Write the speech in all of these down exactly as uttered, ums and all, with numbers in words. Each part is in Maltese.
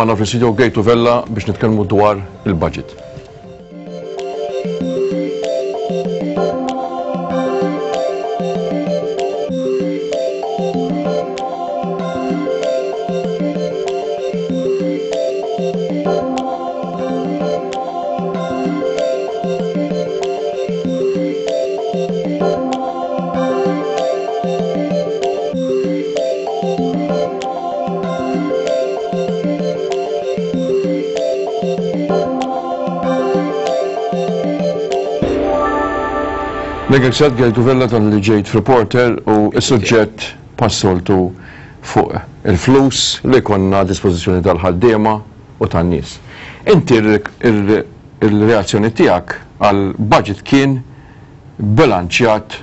Magħna fl-istudio Gejtu Vella biex nitkellmu dwar il-budget. Nirringrazzjak Gejtu Vella talli ġejt f'Reporter u s-suġġett passoltu fuq il-flus li konna a dispożizzjoni tal-ħaddiema u tan-nies. Inti il-reazzjoni tiegħek għal budget kien bilanċjat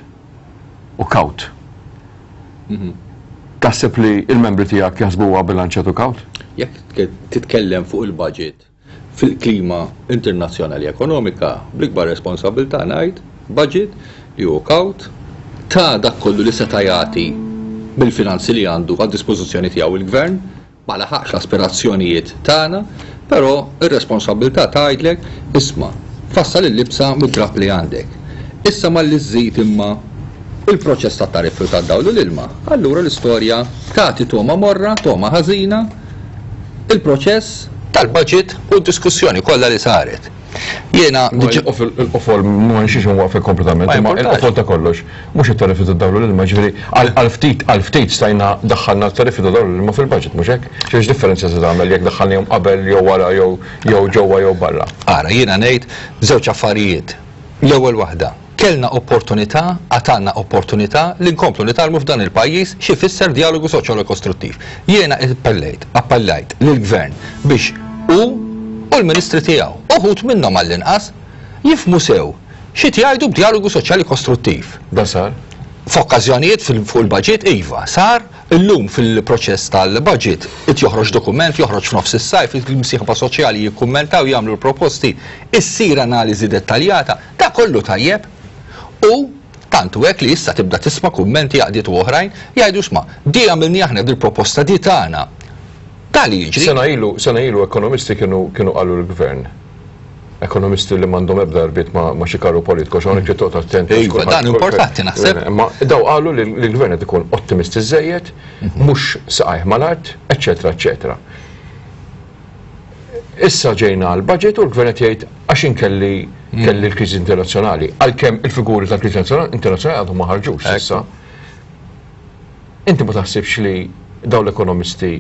u kawt. Taħseb li il-membri tiegħek jaħsbuha bilanċjat u kawt? Jekk titkellem fuq il-budget fil-klima internazzjonali ekonomika, bl-ikbar responsabilità ngħid budget li hu kawt ta' dak kollu li seta' jagħti bil-finanzi li għandu għad dispożizzjoni tiegħu il-gvern, ma laħaqx l-aspirazzjonijiet tagħna, però ir-responsabilità tgħidlek isma' fassal il-libsa mid-drap li għandek. Issa malli żżid imma il-proċess ta' tariffi u tad-dawl u l-ilma, allura l-istorja tagħti toma morra, toma ħażina, il-proċess tal-budget u d-diskussjoni kollha li saret. Jiena il-qofol ma nixiex nwaqfek kompletament, Ma imma importax. il-qofol ta' kollox, mhux it-tariffi tad-dawl u l-ilma, ġifieri għal ftit għal ftit stajna daħħalna t-tariffi tad-dawl u l-ilma fil-budget, mhux hekk? X'iex differenza se tagħmel jekk daħħalnihom qabel jew wara jew jew ġewwa jew barra? Ara, jiena ngħid żewġ affarijiet. L-ewwel waħda, kellna opportunità, għatanna opportunità li nkomplu nitgħallmu f'dan il-pajjiż xi fisser dialogu soċjali kostruttiv. Jiena appellejt, appellajt lill-gvern biex hu u l-ministri tiegħu, uħud minnhom għall-inqas, jifhmu sew xi jgħidu b'dialogu soċjali kostruttiv. Dan sar? F'okkażjonijiet fuq il-budget, iva, sar. Illum fil-proċess tal-budget it joħroġ dokument, joħroġ f'nofs is-sajf, il-msieħba soċjali jikkummentaw, jagħmlu l-proposti, issir analiżi dettaljata, da kollu tajjeb. U tantu hekk li issa tibda tisma' kummenti għaqdiet u oħrajn jgħidu sma' di għamilni aħna dil-proposta di tagħna. Tali jiġri. Sena ilu, sena ilu ekonomisti kienu kienu qalu l-gvern. Ekonomisti li m'għandhom ebda rbiet ma, ma xi karru politiku, għax hawnhekk trid toqgħod attent. Iva, Kulħadd- dan importanti naħseb. Ma daw qalu li l-gvern qed ikun ottimisti żejjed, mhux saqajh mal-art, eċċetera, eċċetera. Issa ġejna għal budget u l-gvern qed jgħid għax inkelli kelli l-kriżi internazzjonali, għalkemm il-figuri tal-kriżi internazzjonali għadhom ma ħarġux issa. Inti ma taħsibx li dawn l-ekonomisti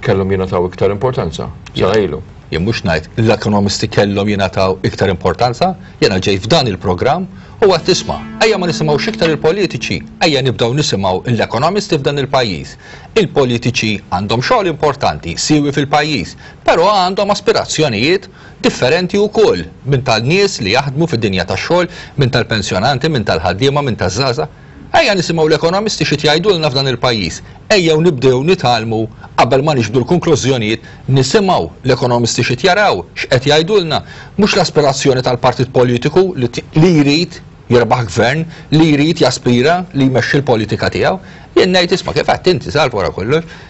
kellhom jingħataw iktar importanza? Sena ilu. Jien mhux ngħid l-ekonomisti kellhom jingħataw iktar importanza, jiena ġej f'dan il-programm u għad tisma' ejja ma nisimgħux iktar il-politiċi, ejja nibdew nisimgħu l-ekonomisti f'dan il-pajjiż. Il-politiċi għandhom xogħol importanti, siwi fil-pajjiż, però għandhom aspirazzjonijiet differenti wkoll minn tal-nies li jaħdmu fid-dinja tax-xogħol, minn tal-pensjonanti, minn tal-ħaddiema, minn taż-żgħażagħ. Ejja nisimgħu l-ekonomisti xi jgħidulna f'dan il-pajjiż. Ejja nibdew nitgħallmu qabel ma niġbdu l-konklużjonijiet, nisimgħu l-ekonomisti xi jaraw, x'qed jgħidulna, mhux l-aspirazzjoni tal-partit politiku li t-, li jrid jirbaħ gvern, li jrid jaspira li jmexxi l-politika tiegħu. Jien ngħid isma' kif qed inti salv wara kollox.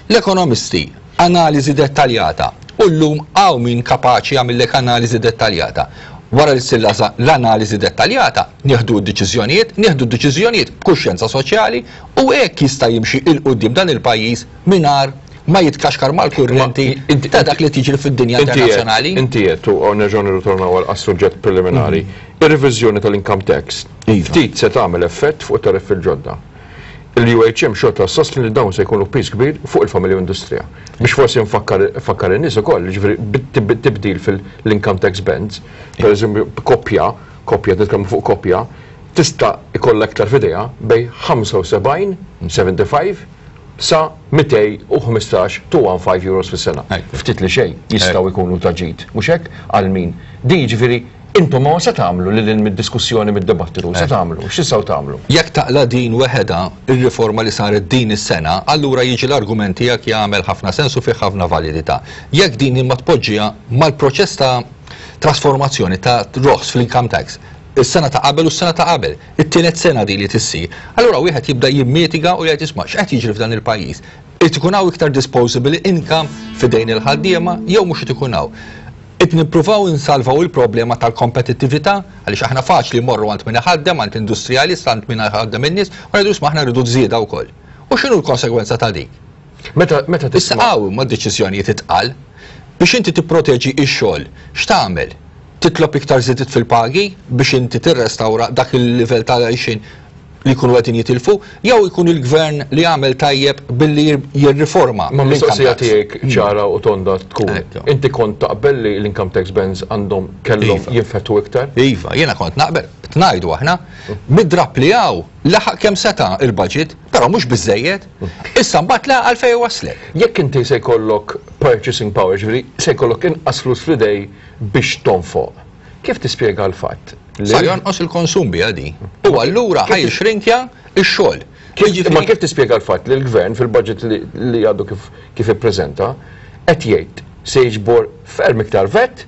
L-ekonomisti analiżi dettaljata u llum hawn min kapaċi jagħmillek analiżi dettaljata. Wara li ssir l-analiżi dettaljata, nieħdu d-deċiżjonijiet, nieħdu d-deċiżjonijiet b'kuxjenza soċjali u hekk jista' jimxi il quddiem dan il-pajjiż mingħajr ma jitkaxkar mal-kurrenti Ma, inti- ta' dak li tiġri fid-dinja Inti qed- internazzjonali. Inti qed u nerġgħu nirritornaw għal suġġett preliminari. Ir-reviżjoni tal-income tax Iva. ftit se tagħmel effett fuq tariffi l-ġodda. Il-U H M xorta sostni li dawn se jkunu piż kbir fuq il-familja u industrija. Biex forsi nfakkar nfakkar in-nies ukoll, jiġifieri bit- tibdil fil-income tax bands, per eżempju koppja, koppja nitkellmu fuq koppja, tista' ikollha iktar f'idejha bejn ħamsa u sebgħin, sebgħa u ħamsin sa mitejn u ħmistax, two hundred fifteen euros fis-sena. Ekku. Ftit li xejn jistgħu jkunu ta' ġid, mhux hekk għal min. Di jiġifieri intom ma se tagħmlu lil hinn mid-diskussjoni, mid-dibattitu, se tagħmlu, x'tistgħu tagħmlu? Jekk taqla din weħeda ir-riforma li saret din is-sena, allura jiġi l-argument tiegħek jagħmel ħafna sens u fih ħafna validità. Jekk din imma tpoġġiha mal-proċess ta' trasformazzjoni ta' roħs fl-income tax, is-sena ta' qabel u s-sena ta' qabel, it-tielet sena di li tissir, allura wieħed jibda jimmitiga u jgħid isma' x'qed jiġri f'dan il-pajjiż. Qed ikun hawn iktar disposable income f'idejn il-ħaddiema jew mhux qed ikun hawn. Qed nippruvaw insalvaw il-problema tal-kompetittività, għaliex aħna faċli mmorru għand min iħaddem, għand industrialist, għand min iħaddem in-nies, u ngħidu isma' aħna rridu żieda wkoll. U x'inhu l-konsegwenza ta' dik? Meta meta Issa tisma' hawn ma deċiżjonijiet itqal biex inti tipproteġi x-xogħol, x'tagħmel? Titlob iktar żidiet fil-pagi biex inti tirrestawra dak il-livell tal-għajxin li jkunu qegħdin jitilfu, jew ikun il-gvern li jagħmel tajjeb billi jirriforma Ma l-income mistoqsija tax. tiegħek ċara u tonda tkun. Ekku. Inti kont taqbel li l-income tax bands għandhom kellhom Iva. jinfetħu iktar? Iva, jiena kont naqbel, ngħidu aħna, mid-drap li hawn laħaq kemm seta' il-budget, però mhux biżejjed, issa mbagħad la għalfejn waslek. Jekk inti se jkollok purchasing power, ġifieri se jkollok inqas flus fl-idej biex tonfoq. Kif tispjega l-fatt? li- Sa jonqos il-konsum bija di. U allura ħa jixrinkja x-xogħol. Kif, Jiġifieri- ma kif tispjega l-fatt li l-gvern fil-budget li, li għadu kif, kif ippreżenta qed jgħid se jiġbor ferm iktar VAT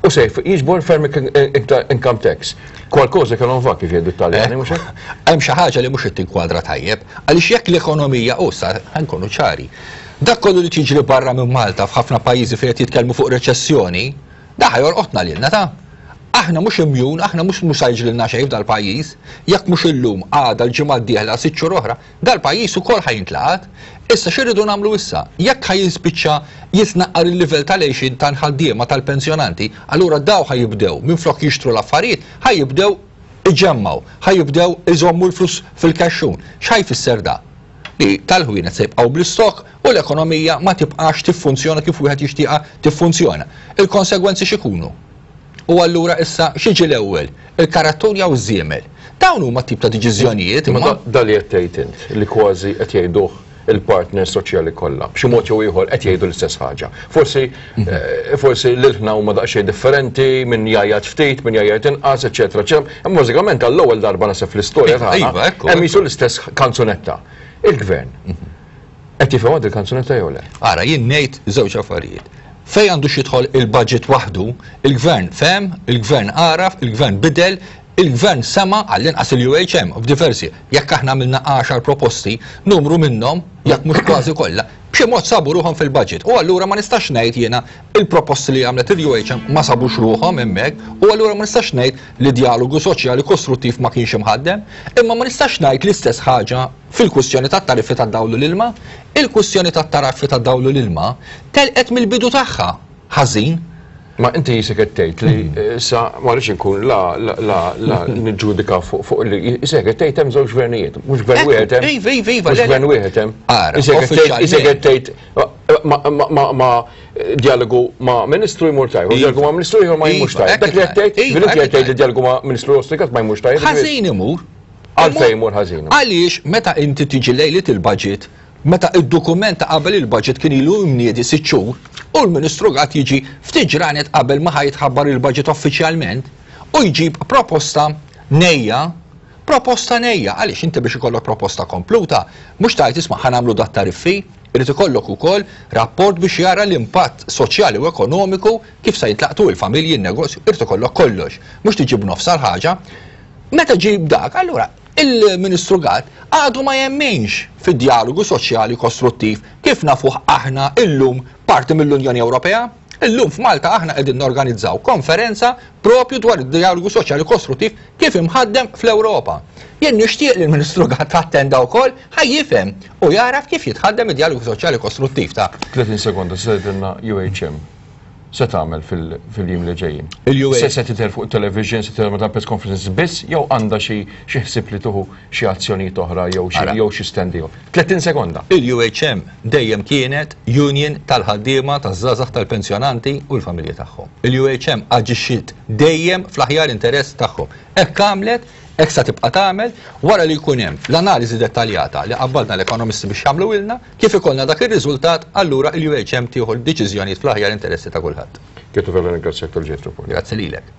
u se jiġbor ferm iktar income tax. Qualcosa che non va kif jgħidu t-Taljani, mhux hekk? Hemm xi ħaġa li mhux qed tinkwadra tajjeb, għaliex jekk l-ekonomija u sa ħa nkunu ċari. Dak kollu li tiġri barra minn Malta f'ħafna pajjiżi fejn qed jitkellmu fuq reċessjoni, da ħa jolqotna lilna ta' Aħna mhux immune, aħna mhux mhux jiġrilna xejn f'dal-pajjiż, jekk mhux illum għada l-ġimgħa d-dieħla sitt xhur oħra, dal-pajjiż ukoll ħa jintlaqat. Issa x'irridu nagħmlu issa? Jekk ħa jispiċċa jitnaqqar il-livell tal-għixin tal-ħaddiema tal-pensjonanti, allura daw ħa jibdew minflok jixtru l-affarijiet, ħa jibdew iġemmaw, ħa jibdew iżommu l-flus fil-kaxxun. X'ħa jfisser da? Li tal-ħwienet se jibqgħu bl-istok u l-ekonomija ma tibqax tiffunzjona kif wieħed jixtieqha tiffunzjona. Il-konsegwenzi x'ikunu? U allura issa x'jiġi l-ewwel? Il-karattun jew iż-żiemel? Dawn huma tip ta' deċiżjonijiet Ma imma da- da li qed tgħid int li kważi qed jgħiduh il-partner soċjali kollha. B'xi mod jew ieħor qed jgħidu l-istess ħaġa. Forsi eh, forsi l-ilħna huma daqsxejn differenti, min jgħajjat ftit, min jgħajjat inqas, eċetera, eċetera. Imma bażikament għall-ewwel darba naħseb fl-istorja Iva, tagħna iva, ekku, hemm ekku. jisu l-istess kanzunetta. Il-gvern qed jifhem għad il-kanzunetta jew le? Ara, jien ngħid żewġ affarijiet. Fej għandu xidħol il-budget waħdu, il-gvern fehem, il-gvern għaraf, il-gvern bidel, il-gvern sema għall-inqas il-U H M f'diversi. Jekk aħna għamilna għaxar proposti, numru minnhom, jekk mhux kważi kollha, b'xi mod sabu ruħhom fil-budget. U allura ma nistax ngħid jiena il-proposti li għamlet il-U H M ma sabux ruħhom hemmhekk, u allura ma nistax ngħid li dialogu soċjali kostruttiv ma kienx imħaddem, imma ma nistax ngħid l-istess ħaġa fil-kwistjoni tat-tariffi tad-dawl u l-ilma. Il-kwistjoni tat-tariffi tad-dawl u l-ilma telqet mill-bidu tagħha ħażin. Ma inti jisek qed tgħid li issa ma rridx inkun la la la la niġġudika fuq fuq li jisek qed tgħid hemm żewġ gvernijiet, mhux gvern Ekku, wieħed hemm. Iva, iva, iva, Mhux le, le. gvern wieħed hemm. Ara, Jisek qed tgħid jisek qed tgħid ma ma ma dialogu ma' ministru jmur tajjeb, u Iva. dialogu ma' ministru ieħor ma jmurx Iva, tajjeb. Dak li qed tgħid, Iva, ġifieri inti qed tgħid li hekk dialogu ma' ministru Austrikat ma jmurx tajjeb. Ħażin imur. Għalfejn imur ħażin. Għaliex meta inti tiġi lejlit il-budget, meta id-dokument ta' qabel il-budget kien ilu mniedi sitt xhur, u l-Ministru Gatt jiġi ftit ġranet qabel ma ħa jitħabbar il-budget uffiċjalment u jġib proposta nejja, proposta nejja, għaliex inti biex ikollok proposta kompluta, mhux tajt isma' ħa nagħmlu dat tariffi, irid ikollok ukoll rapport biex jara l-impatt soċjali u ekonomiku kif se jintlaqtu il-familji, il-negozju, irid ikollok kollox. Mhux tiġi b'nofs ħaġa. Meta ġib dak, allura il-Ministru Gatt għadu ma jemminx fid-dialogu soċjali kostruttiv kif nafuh aħna illum parti mill-Unjoni Ewropea. Illum f'Malta aħna qegħdin norganizzaw konferenza propju dwar id-dialogu soċjali kostruttiv kif imħaddem fl-Ewropa. Jien nixtieq li l-Ministru Gatt attenda wkoll ħa jifhem u jaraf kif jitħaddem id-dialogu soċjali kostruttiv ta' tletin sekonda, se tgħidilna U H M se tagħmel fil-jiem li ġejjin? Il-U H M. Se se tidher fuq television, se tidher ma' press conferences biss, jew għandha xi xi ħsieb li tuħu xi azzjonijiet oħra jew xi Ara. jew xi stand ieħor? tletin sekonda. Il-U H M dejjem kienet union tal-ħaddiema, taż-żgħażagħ, tal-pensjonanti u l-familji tagħhom. Il-U H M aġixxiet dejjem fl-aħjar interess tagħhom. Hekk għamlet, hekk sa tibqa' tagħmel wara li jkun hemm l-analiżi dettaljata li qabbadna l-ekonomisti biex jagħmlu ilna, kif ikollna dak ir-riżultat, allura il-U H M tieħu l-deċiżjonijiet fl-aħjar interessi ta' kulħadd. Kietu vera ringrazzjak tal-ġejt. Grazzi lilek.